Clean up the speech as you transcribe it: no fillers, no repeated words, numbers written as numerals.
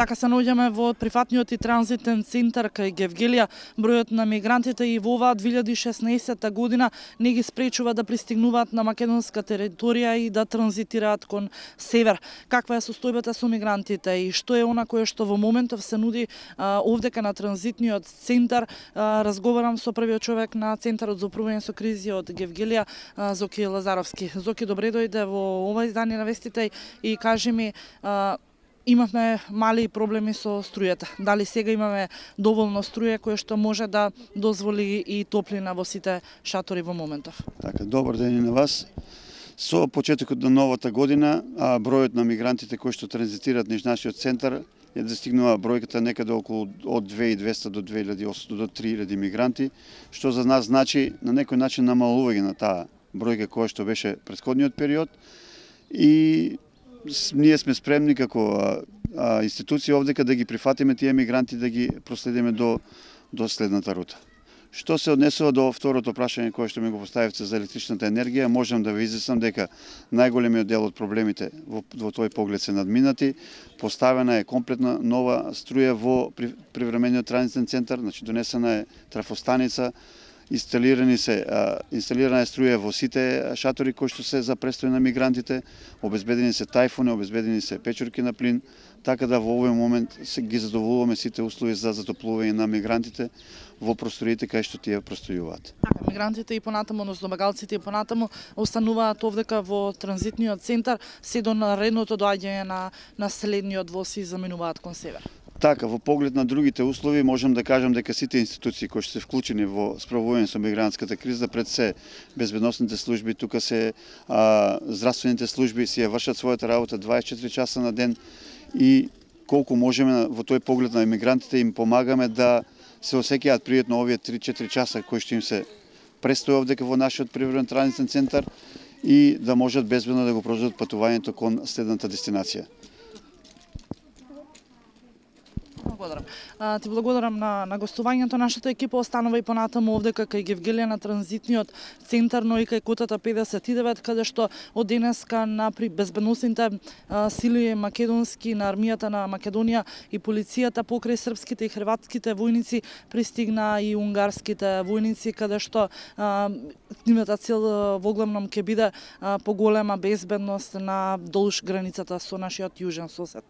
Така се наоѓаме во прифатниот и транзитен центар кај Гевгелија. Бројот на мигрантите и во оваа 2016 година не ги спречува да пристигнуваат на македонска територија и да транзитираат кон север. Каква е состојбата со мигрантите и што е она кое што во моментов се нуди овдека на транзитниот центар? Разговарам со првиот човек на Центарот за управување со кризи од Гевгелија, Зоки Лазаровски. Зоки, добре дојде во ова издание на вестите и кажи ми, имавме мали проблеми со струјата. Дали сега имаме доволно струја која што може да дозволи и топлина во сите шатори во моментов? Така, добар ден и на вас. Со почетокот на новата година, бројот на мигрантите кои што транзитираат низ нашиот центар е достигнува бројката некаде околу од 2200 до 2800 до 3000 мигранти, што за нас значи на некој начин намалување на таа бројка која што беше претходниот период, и ние сме спремни како институција овдека да ги прифатиме тие мигранти, да ги проследиме до следната рута. Што се однесува до второто прашање кое што ми го поставивте за електричната енергија, можам да ви изјаснам дека најголемиот дел од проблемите во тој поглед се надминати. Поставена е комплетна нова струја во привремениот транзитен центар, значи донесена е трафостаница, инсталирана е струја во сите шатори кои што се за престој на мигрантите, обезбедени се тајфуни, обезбедени се печурки на плин, така да во овој момент ги задоволуваме сите услови за затоплување на мигрантите во просториите кај што тие простојуваат. Така, мигрантите и понатаму, односно бегалците и понатаму остануваат овдека во транзитниот центар, се до наредното доаѓање на следниот воз и заминуваат кон север. Така, во поглед на другите услови, можам да кажам дека сите институции кои што се вклучени во справување со мигрантската криза, пред се безбедносните служби, тука се здравствените служби си ја вршат својата работа 24 часа на ден и колку можеме во тој поглед на мигрантите им помагаме да се осеќаат пријатно овие 3-4 часа кои што им се престои овдека во нашиот привремен транзитен центар и да можат безбедно да го продолжат патувањето кон следната дестинација. Благодарам. Ти благодарам на гостувањето. Нашата екипа останува и понатаму овдека кај Гевгелија на транзитниот центар, но и кај кутата 59, каде што од денеска на безбедносните сили македонски на армијата на Македонија и полицијата покрај српските и хрватските војници пристигна и унгарските војници, каде што нивната цел во главном ќе биде поголема безбедност на долж границата со нашиот јужен сосед.